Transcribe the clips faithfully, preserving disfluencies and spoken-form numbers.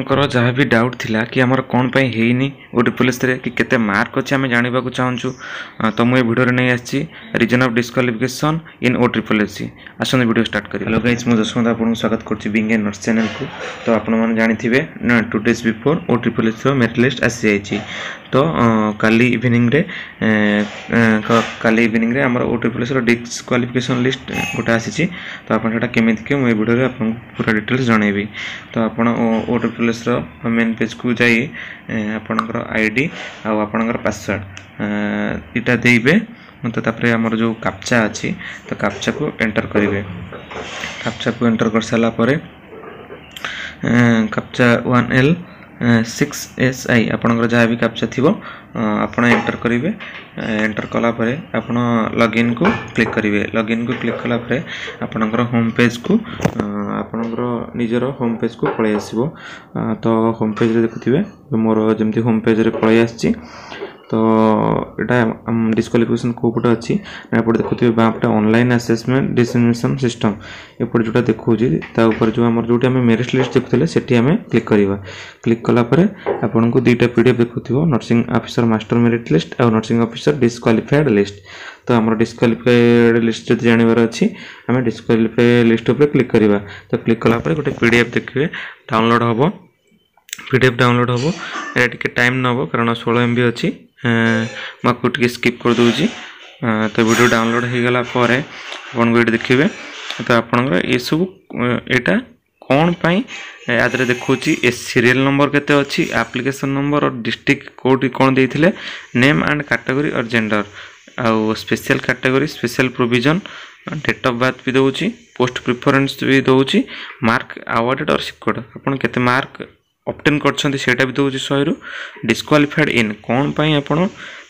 ଆପଣଙ୍କର ଯାହା ବି ଡାଉଟ୍ ଥିଲା କି ଆମର କ'ଣ ପାଇଁ ହେଇନି ଓ ଟ୍ରିପଲ୍ ଏସ୍ରେ କି କେତେ ମାର୍କ ଅଛି ଆମେ ଜାଣିବାକୁ ଚାହୁଁଛୁ ତ ମୁଁ ଏ ଭିଡ଼ିଓରେ ନେଇ ଆସିଛି reason of disqualification in O triple S C ଆସନ୍ତୁ ଭିଡ଼ିଓ ଷ୍ଟାର୍ଟ କରିବା ହ୍ୟାଲୋ ଗାଇଜ୍ ମୁଁ ଯଶବନ୍ତ ଆପଣଙ୍କୁ ସ୍ୱାଗତ କରୁଛି ବିଙ୍ଗ ଏ ନର୍ସ ଚ୍ୟାନେଲକୁ ତ ଆପଣମାନେ ଜାଣିଥିବେ two days before O triple ଏସ୍ର merit list ଆସିଯାଇଛି ତ କାଲି ଇଭିନିଂରେ କାଲି ଇଭିନିଂରେ ଆମର ଓ ଟ୍ରିପଲ୍ ଏସ୍ର ଡିସ୍କ୍ୱାଲିଫିକେସନ୍ ଲିଷ୍ଟ ଗୋଟେ ଆସିଛି ତ ଆପଣ ସେଇଟା କେମିତି ଦେଖିବେ ମୁଁ ଏ ଭିଡ଼ିଓରେ ଆପଣଙ୍କୁ ପୁରା ଡିଟେଲ୍ସ ଜଣାଇବି ତ ଆପଣ ଓ ଟ୍ରିପଲ୍ ଏସ୍ର ମେନ୍ ପେଜ୍କୁ ଯାଇ ଆପଣଙ୍କର I D ଆଉ ଆପଣଙ୍କର ପାସୱାର୍ଡ଼ ଏଇଟା ଦେଇବେ ତ ତାପରେ ଆମର ଯେଉଁ କାପ୍ଚା ଅଛି ତ କାପ୍ଚାକୁ ଏଣ୍ଟର କରିବେ କାପ୍ଚାକୁ ଏଣ୍ଟର କରିସାରିଲା ପରେ captcha one L six S I ଆପଣଙ୍କର ଯାହା ବି କାପ୍ଚା ଥିବ ଆପଣ ଏଣ୍ଟର କରିବେ ଏଣ୍ଟର କଲା ପରେ ଆପଣ ଲଗ୍ଇନ୍କୁ କ୍ଲିକ୍ କରିବେ ଲଗ୍ଇନ୍କୁ କ୍ଲିକ୍ କଲା ପରେ ଆପଣଙ୍କର ହୋମ୍ ପେଜ୍କୁ ଆପଣଙ୍କର ନିଜର ହୋମ୍ ପେଜ୍କୁ ପଳାଇ ଆସିବ ତ ହୋମ୍ ପେଜ୍ରେ ଦେଖୁଥିବେ ମୋର ଯେମିତି ହୋମ୍ ପେଜ୍ରେ ପଳାଇ ଆସିଛି ତ ଏଇଟା ଡିସ୍କ୍ୱାଲିଫିକେସନ୍ କେଉଁ ପଟେ ଅଛି ନା ଏପଟେ ଦେଖୁଥିବେ ବାଁ ପଟେ ଅନଲାଇନ୍ ଆସେସମେଣ୍ଟ ଡିସେମିନେସନ୍ ସିଷ୍ଟମ୍ ଏପଟେ ଯେଉଁଟା ଦେଖାଉଛି ତା ଉପରେ ଯେଉଁ ଆମର ଯେଉଁଠି ଆମେ ମେରିଟ୍ ଲିଷ୍ଟ ଦେଖୁଥିଲେ ସେଠି ଆମେ କ୍ଲିକ୍ କରିବା କ୍ଲିକ୍ କଲା ପରେ ଆପଣଙ୍କୁ ଦୁଇଟା ପି ଡି ଏଫ୍ ଦେଖୁଥିବ nursing officer master merit list ଆଉ ନର୍ସିଂ ଅଫିସର ଡିସ୍କ୍ୱାଲିଫାଏଡ଼ ଲିଷ୍ଟ ତ ଆମର ଡିସ୍କ୍ୱାଲିଫାଏଡ଼ ଲିଷ୍ଟ ଯଦି ଜାଣିବାର ଅଛି ଆମେ ଡିସ୍କ୍ୱାଲିଫାଏ ଲିଷ୍ଟ ଉପରେ କ୍ଲିକ୍ କରିବା ତ କ୍ଲିକ୍ କଲା ପରେ ଗୋଟେ ପି ଡି ଏଫ୍ ଦେଖିବେ ଡାଉନଲୋଡ଼ ହେବ ପି ଡି ଏଫ୍ ଡାଉନଲୋଡ଼ ହେବ ଏଇଟା ଟିକେ ଟାଇମ୍ ନେବ କାରଣ ଷୋହଳ ଏମ୍ ବି ଅଛି ମୁଁ ଆକୁ ଟିକେ ସ୍କିପ୍ କରିଦେଉଛି ତ ଭିଡ଼ିଓ ଡାଉନଲୋଡ଼ ହେଇଗଲା ପରେ ଆପଣଙ୍କୁ ଏଇଠି ଦେଖିବେ ତ ଆପଣଙ୍କର ଏସବୁ ଏଇଟା କ'ଣ ପାଇଁ ୟା ଦେହରେ ଦେଖାଉଛି ଏ ସିରିଏଲ୍ ନମ୍ବର କେତେ ଅଛି ଆପ୍ଲିକେସନ୍ ନମ୍ବର ଡିଷ୍ଟ୍ରିକ୍ଟ କେଉଁଠି କ'ଣ ଦେଇଥିଲେ name and category or gender ଆଉ special category special provision date of birth ବି ଦେଉଛି ପୋଷ୍ଟ ପ୍ରିଫରେନ୍ସ ବି ଦେଉଛି ମାର୍କ ଆୱାର୍ଡ଼େଡ଼ ଅର୍ ସିକ୍ୟୁର୍ଡ଼ ଆପଣ କେତେ ମାର୍କ ଅବଟେନ୍ କରିଛନ୍ତି ସେଇଟା ବି ଦେଉଛି ଶହେରୁ ଡିସ୍କ୍ୱାଲିଫାଏଡ଼ ଇନ୍ କ'ଣ ପାଇଁ ଆପଣ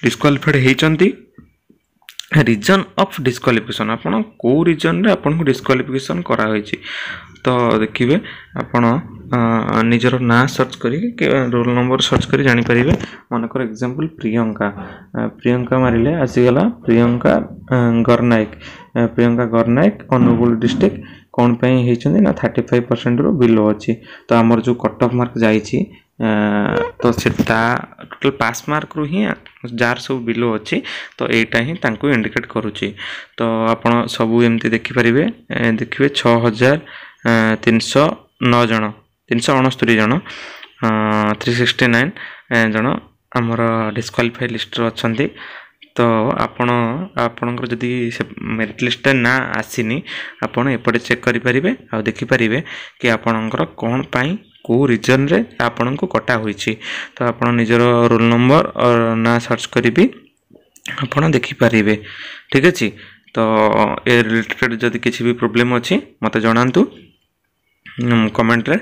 ଡିସ୍କ୍ୱାଲିଫାଏଡ଼ ହେଇଛନ୍ତି ରିଜନ୍ ଅଫ୍ ଡିସ୍କ୍ୱାଲିଫିକେସନ୍ ଆପଣ କେଉଁ ରିଜନ୍ରେ ଆପଣଙ୍କୁ ଡିସ୍କ୍ୱାଲିଫିକେସନ୍ କରାହୋଇଛି ତ ଦେଖିବେ ଆପଣ ନିଜର ନାଁ ସର୍ଚ୍ଚ କରିକି ରୋଲ୍ ନମ୍ବର ସର୍ଚ୍ଚ କରି ଜାଣିପାରିବେ ମନେକର ଏକ୍ଜାମ୍ପଲ୍ ପ୍ରିୟଙ୍କା ପ୍ରିୟଙ୍କା ମାରିଲେ ଆସିଗଲା ପ୍ରିୟଙ୍କା ଗରନାୟକ ପ୍ରିୟଙ୍କା ଗରନାୟକ ଅନୁଗୁଳ ଡିଷ୍ଟ୍ରିକ୍ଟ କ'ଣ ପାଇଁ ହେଇଛନ୍ତି ନା ଥାର୍ଟି ଫାଇଭ୍ ପରସେଣ୍ଟରୁ ବିଲୋ ଅଛି ତ ଆମର ଯେଉଁ କଟ୍ ଅଫ୍ ମାର୍କ ଯାଇଛି ତ ସେ ତା ଟୋଟାଲ୍ ପାସ୍ ମାର୍କରୁ ହିଁ ଯାହାର ସବୁ ବିଲୋ ଅଛି ତ ଏଇଟା ହିଁ ତାଙ୍କୁ ଇଣ୍ଡିକେଟ୍ କରୁଛି ତ ଆପଣ ସବୁ ଏମିତି ଦେଖିପାରିବେ ଦେଖିବେ ଛଅ ହଜାର ତିନିଶହ ନଅ ଜଣ ତିନିଶହ ଅଣସ୍ତରୀ ଜଣ ଥ୍ରୀ ସିକ୍ସଟି ନାଇନ୍ ଜଣ ଆମର ଡିସ୍କ୍ୱାଲିଫାଇ ଲିଷ୍ଟରେ ଅଛନ୍ତି ତ ଆପଣ ଆପଣଙ୍କର ଯଦି ସେ ମେରିଟ୍ ଲିଷ୍ଟଟା ନାଁ ଆସିନି ଆପଣ ଏପଟେ ଚେକ୍ କରିପାରିବେ ଆଉ ଦେଖିପାରିବେ କି ଆପଣଙ୍କର କ'ଣ ପାଇଁ କେଉଁ ରିଜନ୍ରେ ଆପଣଙ୍କୁ କଟା ହୋଇଛି ତ ଆପଣ ନିଜର ରୋଲ୍ ନମ୍ବର ନାଁ ସର୍ଚ୍ଚ କରିବି ଆପଣ ଦେଖିପାରିବେ ଠିକ୍ ଅଛି ତ ଏ ରିଲେଟେଡ଼୍ ଯଦି କିଛି ବି ପ୍ରୋବ୍ଲେମ୍ ଅଛି ମୋତେ ଜଣାନ୍ତୁ କମେଣ୍ଟରେ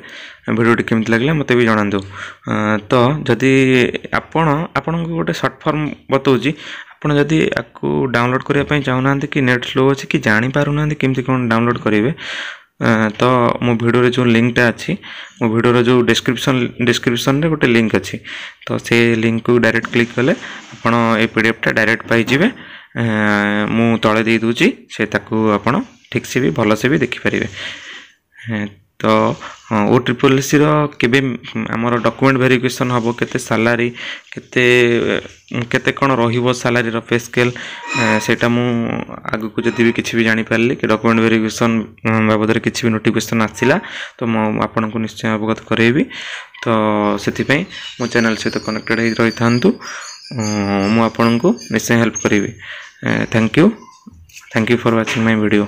ଭିଡ଼ିଓଟି କେମିତି ଲାଗିଲା ମୋତେ ବି ଜଣାନ୍ତୁ ତ ଯଦି ଆପଣ ଆପଣଙ୍କୁ ଗୋଟେ ସର୍ଟ ଫର୍ମ ବତାଉଛି ଆପଣ ଯଦି ଆକୁ ଡାଉନଲୋଡ଼୍ କରିବା ପାଇଁ ଚାହୁଁନାହାନ୍ତି କି ନେଟ୍ ସ୍ଲୋ ଅଛି କି ଜାଣିପାରୁନାହାନ୍ତି କେମିତି କ'ଣ ଡାଉନଲୋଡ଼୍ କରିବେ ତ ମୋ ଭିଡ଼ିଓରେ ଯେଉଁ ଲିଙ୍କଟା ଅଛି ମୋ ଭିଡ଼ିଓର ଯେଉଁ ଡେସ୍କ୍ରିପସନ୍ ଡେସ୍କ୍ରିପସନ୍ରେ ଗୋଟେ ଲିଙ୍କ ଅଛି ତ ସେ ଲିଙ୍କକୁ ଡାଇରେକ୍ଟ କ୍ଲିକ୍ କଲେ ଆପଣ ଏ ପି ଡି ଏଫ୍ଟା ଡାଇରେକ୍ଟ ପାଇଯିବେ ମୁଁ ତଳେ ଦେଇଦେଉଛି ସେ ତାକୁ ଆପଣ ଠିକ୍ସେ ବି ଭଲସେ ବି ଦେଖିପାରିବେ ତ ଓ ଟ୍ରିପଲ୍ ଏସ୍ସିର କେବେ ଆମର ଡକୁମେଣ୍ଟ ଭେରିଫିକେସନ୍ ହେବ କେତେ ସାଲାରୀ କେତେ କେତେ କ'ଣ ରହିବ ସାଲାରୀର ପେ ସ୍କେଲ୍ ସେଇଟା ମୁଁ ଆଗକୁ ଯଦି ବି କିଛି ବି ଜାଣିପାରିଲି କି ଡକୁମେଣ୍ଟ ଭେରିଫିକେସନ୍ ବାବଦରେ କିଛି ବି ନୋଟିଫିକେସନ୍ ଆସିଲା ତ ମୁଁ ଆପଣଙ୍କୁ ନିଶ୍ଚୟ ଅବଗତ କରାଇବି ତ ସେଥିପାଇଁ ମୋ ଚ୍ୟାନେଲ୍ ସହିତ କନେକ୍ଟେଡ଼ ହେଇ ରହିଥାନ୍ତୁ ମୁଁ ଆପଣଙ୍କୁ ନିଶ୍ଚୟ ହେଲ୍ପ କରିବି thank you thank you for watching my video